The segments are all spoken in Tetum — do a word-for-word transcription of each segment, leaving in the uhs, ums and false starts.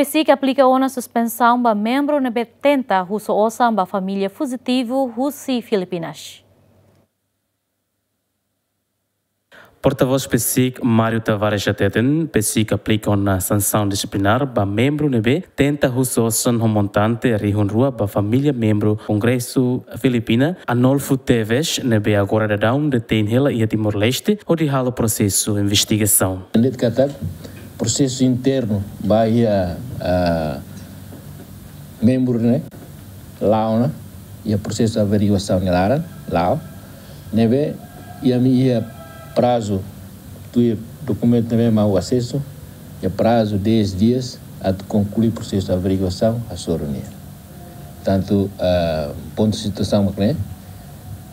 PCIC aplika ona suspensaun ba membru ne'ebé tenta husu osan ba família fujitivu husi Filipinas. Portavós PCIC, Mário Tavares hateten, PCIC aplika ona sansaun dixiplinár ba membru ne'ebé tenta husu osan ho montante rihun rua ba família membru Kongresu Filipina, Arnolfo Teves, ne'ebé agora daudaun detein hela iha Timor-Leste, hodi halo prosesu investigasaun. Dehan katak prosesu internu ba iha, ah, membru ne'e la'o ona, iha prosesu averiguasaun nia laran, la'o. Ne'ebé, iha ami iha prazu, tuir dokumentu ne'ebé mak asesu, iha prazu dez dias, atu konklui prosesu averiguasaun, hasoru nia. Tantu, ah, pontu situasaun mak ne'e,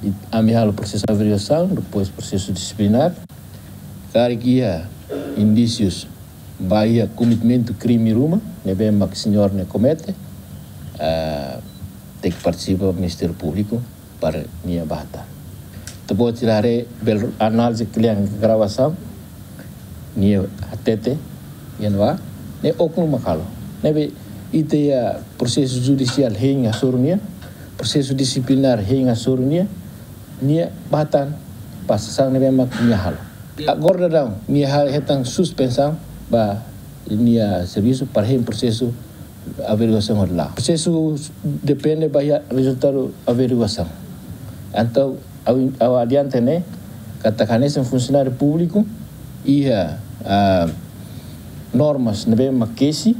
i ami halo prosesu averiguasaun, depois prosesu dixiplinár, karik iha indísius ba iha kometimentu krime ruma, ne'ebé mak señór ne'e komete, ah, tenke partisipa Ministériu Públiku para nia bá hatán. Ita-boot sira haree bele análize kle'an gravasaun, nia hatete, iha ne'ebá, ne'e oknum mak halo. Ne'ebé ita iha prosesu judisiál hein hasoru nia, prosesu dixiplinár hein hasoru nia, nia bá hatán ba sasán ne'ebé mak nia halo. Agora daudaun, nia ha-, hetan suspensaun ba nia servisu para hein prosesu averiguasaun hodi la'o. Prosesu depende ba iha rezultadu averiguasaun. Entaun, ha'u, ha'u adianta ne'e, katak hanesan funsionáriu públiku, iha, ah, normas ne'ebé mak kesi,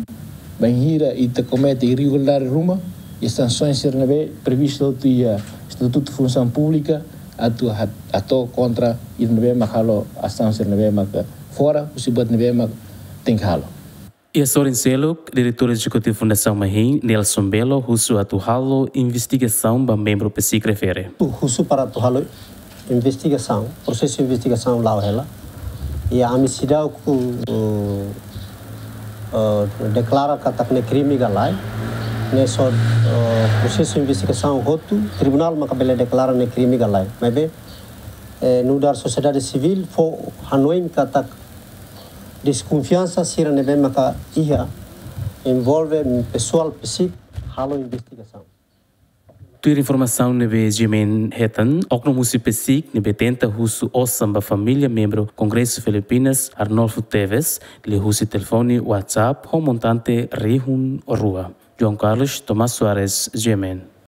bainhira ita komete irregularidade ruma, iha sansoens sira ne'ebé previstu hotu iha Estatutu Funsaun Públika, atu ha-, hato'o kontra ida ne'ebé mak halo asaun sira ne'ebé mak fora husi buat ne'ebé mak tenke halo. Iha sorin seluk, Diretór Ezekutivu Fundasaun Mahin, Nelson Belo, husu atu halo investigasaun ba membru PCIC refere. Husu para atu halo investigasaun, prosesu investigasaun la'o hela. I ami seidauk, eh, eh, deklara katak ne'e krime ka lae. Ne'e só, eh, prosesu investigasaun hotu, tribunál maka bele deklara ne'e krime ka lae. Maibé, eh, nu'udar sosiedade sivíl fó hanoin katak deskonfiansa sira ne'ebé maka iha envolve pesoál PCIC halo investigasaun. Tuir informasaun ne'ebé GMN hetan, oknum husi PCIC ne'ebé tenta husu osan ba família membru Kongresu Filipinas, Arnolfo Teves, liuhusi telefone WhatsApp ho montante rihun rua. João Carlos, Tomás Soares, GMN.